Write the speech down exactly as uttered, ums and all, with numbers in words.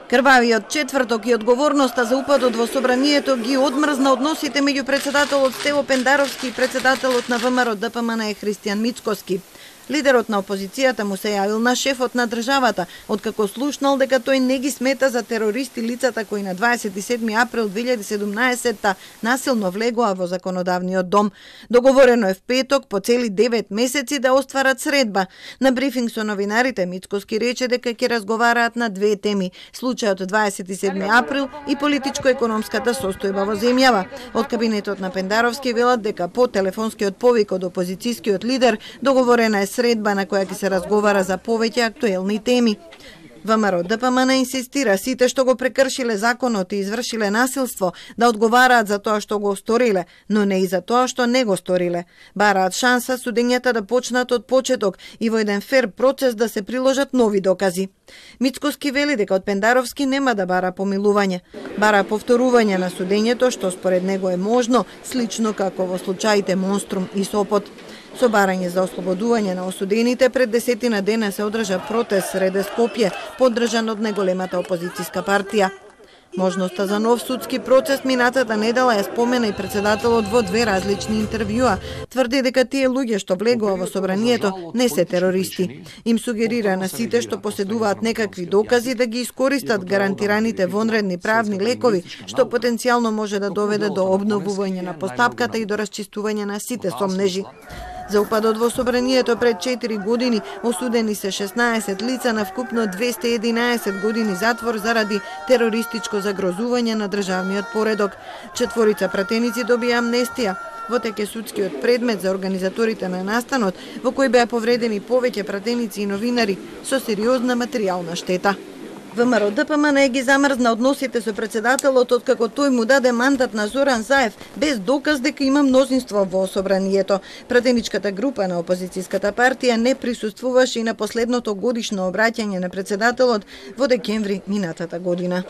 Крвавиот четврток и одговорноста за упадот во собранието ги одмрзна односите меѓу председателот Стево Пендаровски и председателот на ВМРО Д П М Н Христијан Мицкоски. Лидерот на опозицијата му се јавил на шефот на државата, откако слушнал дека тој не ги смета за терористи лицата кои на дваесет и седми април две илјади и седумнаесетта насилно влегоа во законодавниот дом. Договорено е в петок по цели девет месеци да остварат средба. На брифинг со новинарите Мицкоски рече дека ќе разговараат на две теми: случајот дваесет и седми април и политичко-економската состојба во земјава. Од кабинетот на Пендаровски велат дека по телефонскиот повик од опозицијскиот лидер договорена е средба на која ќе се разговара за повеќе актуелни теми. ВМРО Д П М Н инсистира сите што го прекршиле законот и извршиле насилство да одговараат за тоа што го сториле, но не и за тоа што не го сториле. Бараат шанса судењата да почнат од почеток и во еден фер процес да се приложат нови докази. Мицкоски вели дека од Пендаровски нема да бара помилување. Бара повторување на судењето што според него е можно, слично како во случаите Монструм и Сопот. Со барање за ослободување на осудените, пред десетина дена се одржа протест среде Скопје, поддржан од неголемата опозицијска партија. Можноста за нов судски процес минатата недела ја спомена и председателот во две различни интервјуа. Тврди дека тие луѓе што влегува во собранието не се терористи. Им сугерира на сите што поседуваат некакви докази да ги искористат гарантираните вонредни правни лекови, што потенцијално може да доведе до обновување на постапката и до расчистување на сите сомнежи. За упадот во собранието пред четири години осудени се шеснаесет лица на вкупно двесте и единаесет години затвор заради терористичко загрозување на државниот поредок. Четворица пратеници добија амнестија. Во тек е судскиот предмет за организаторите на настанот, во кој беа повредени повеќе пратеници и новинари со сериозна материјална штета. ВМРО Д П М Н ги замрзна односите со председателот откако тој му даде мандат на Зоран Заев без доказ дека има мнозинство во собранието. Пратеничката група на опозицијската партија не присуствуваше и на последното годишно обраќање на председателот во декември минатата година.